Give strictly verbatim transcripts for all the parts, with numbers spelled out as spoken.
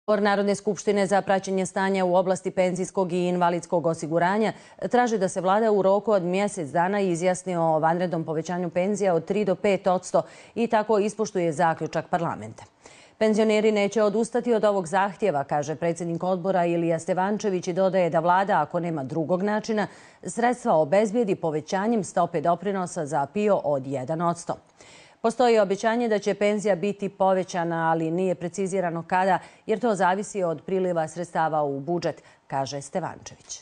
Odbor Narodne skupštine za praćenje stanja u oblasti penzijskog i invalidskog osiguranja traži da se vlada u roku od mjesec dana izjasni o vanrednom povećanju penzija od tri do pet posto i tako ispoštuje zaključak parlamenta. Penzioneri neće odustati od ovog zahtjeva, kaže predsjednik odbora Ilija Stevančević i dodaje da vlada, ako nema drugog načina, sredstva obezbijedi povećanjem stope doprinosa za P I O od jedan posto. Postoji obećanje da će penzija biti povećana, ali nije precizirano kada, jer to zavisi od priliva sredstava u budžet, kaže Stevančević.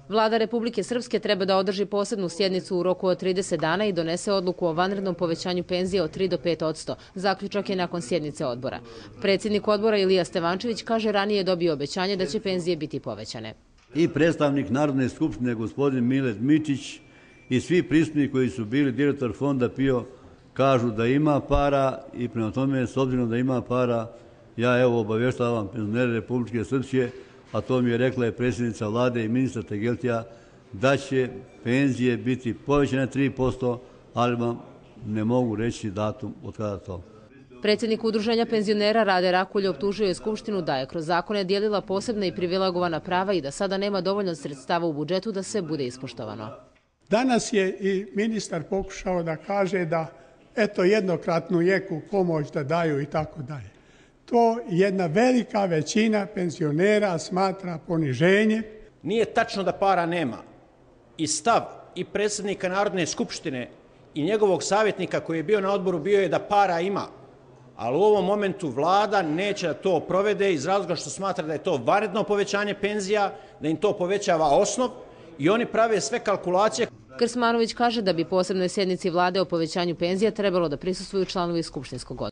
Vlada Republike Srpske treba da održi posebnu sjednicu u roku od trideset dana i donese odluku o vanrednom povećanju penzije od tri do pet posto. Zaključak je nakon sjednice odbora. Predsjednik odbora Ilija Stevančević kaže ranije je dobio obećanje da će penzije biti povećane. I predstavnik Narodne skupštine, gospodin Milet Mičić, i svi prisutni koji su bili direktor fonda P I O kažu da ima para i prema tome, s obzirom da ima para, ja evo obavještavam penzionere Republike Srpske, a to mi je rekla je predsjednica vlade i ministar Tegeltija, da će penzije biti povećane tri posto, ali vam ne mogu reći datum od kada to. Predsjednik udruženja penzionera Rade Rakulj optužio je Skupštinu da je kroz zakone dijelila posebna i privilegovana prava i da sada nema dovoljno sredstava u budžetu da sve bude ispoštovano. Danas je i ministar pokušao da kaže da eto jednokratnu jeku pomoć da daju i tako dalje. To jedna velika većina penzionera smatra poniženje. Nije tačno da para nema. I stav i predsjednika Narodne skupštine i njegovog savjetnika koji je bio na odboru bio je da para ima. Ali u ovom momentu vlada neće da to provede iz razloga što smatra da je to vanredno povećanje penzija, da im to povećava osnov i oni prave sve kalkulacije. Krsmanović kaže da bi posebnoj sjednici vlade o povećanju penzija trebalo da prisustvuju članovi skupštinskog odbora.